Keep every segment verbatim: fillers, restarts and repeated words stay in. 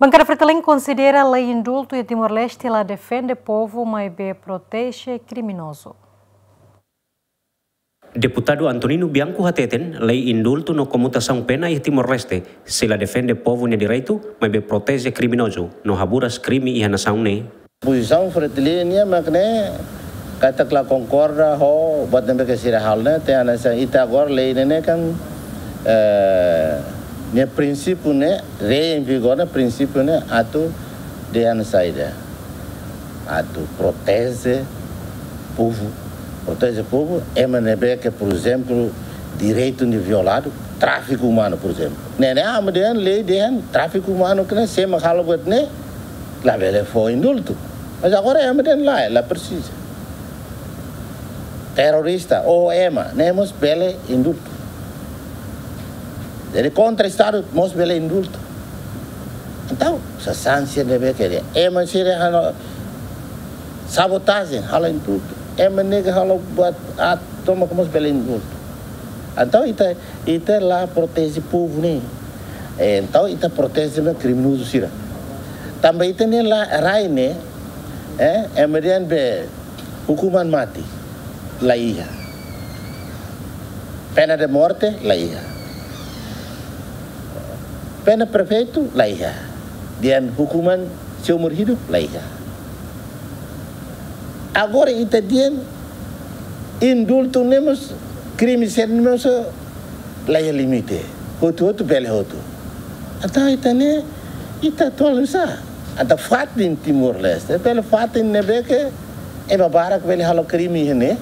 Bankada Fretilin konsidera lei indultu iha Timor-Leste la defende povu, maibé proteje kriminozu. Deputadu Antonino Bianco hateten, lei indultu no komutasaun pena iha Timor-Leste sei la defende povu nia direitu, maibé proteje kriminozu no haburas krime iha nasaun ne'e. Pozisaun Fretilin nian mak ne'e, katak la konkorda ho buat ne'ebé ke sira halo ne'e, tanba hanesan ita agora lei ne'e, ne'e kan, eh, nia prinsípiu ne'e, lei em vigor ne'e, prinsípiu ne'e atu dehan saida, atu proteje povu. Proteje povu, ema ne'ebé ke, por ezemplu, direitu ne'e violadu, tráfiku umanu, por ezemplu. Ne'e, ne'e, ema dehan, lei dehan, tráfiku umanu ke ne'e, sé mak halo buat ne'e, labele fó indultu. Mas agora ema dehan lae, la presiza. Terrorista, ou ema, ne'e mós bele indultu. Jadi kontra Estadu mós bele indultu. Entaun, sasán sira ne'ebé ke dehan, ema sira halo sabotajen, halo indultu. Ema ne'ebé ke halo buat aat tomak mós bele indultu. Entaun ita, ita la proteje povu ne'e. Eh, entaun ita proteje mak kriminozu sira. Tanba ita-nia la, rai ne'e, eh, ema dehan be hukuman mati la iha. Pena de morte la iha. Pena perfeitu la iha. Dehan hukuman seumur hidup la iha. Agora ita dehan indultu ne'e mós, krime sira ne'e mós la iha limite. Hotu-hotu bele hotu. Entaun ita ne'e, ita atuál nusá? Entaun fatin Timor-Leste bele fatin ne'ebé ke ema barak bele halo krime iha ne'e.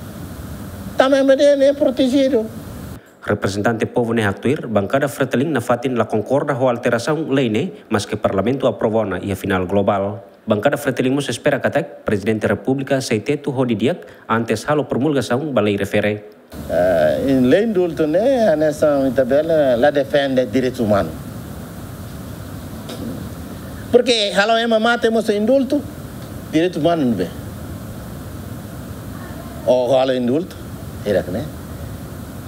Tanba ema ne'e, ne'e protejidu. Reprezentante povu ne'e haktuir, Bankada Fretilin nafatin la konkorda ho alterasaun lei ne'e, maske Parlamentu aprova ona iha finál globál. Bankada Fretilin mós espera katak Prezidente Repúblika sei tetu ho didi'ak antes halo promulgasaun ba lei refere. Eh, lei indultu ne'e, hanesan ita bele, la defende direitus umanus. Porke halo ema mate mós indultu, direitus umanus ne'ebé? Ou halo indultu, hirak ne'e.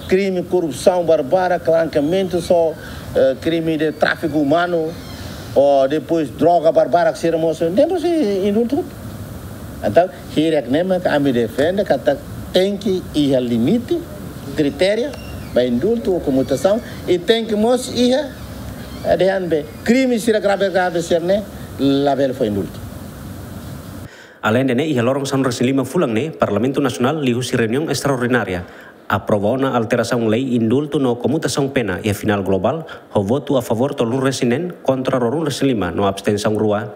Krime, korrupsaun barbarak, klankamentu, só, eh, krime de tráfiku umanu, ou depois droga barbarak sira mós, ne'e mós indultu. Entaun, hirak ne'e mak ami defende katak tenke iha limite, kritériu ba indultu ou komutasaun, i tenke mós iha, eh, dehan be, krime sira grave-grave sira ne'e labele fó indultu. Aleinde ne'e, iha loron sanulu-resin-lima fulan ne'e, Parlamentu Nasionál liuhusi reuniaun estraordinária aprova ona alterasaun lei indultu no komutasaun pena iha finál globál, ho votu a favór tolunulu-resin-neen, kontra ruanulu-resin-lima no abstensaun rua.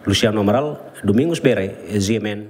Luciano Amaral, Domingos Bere, G M N.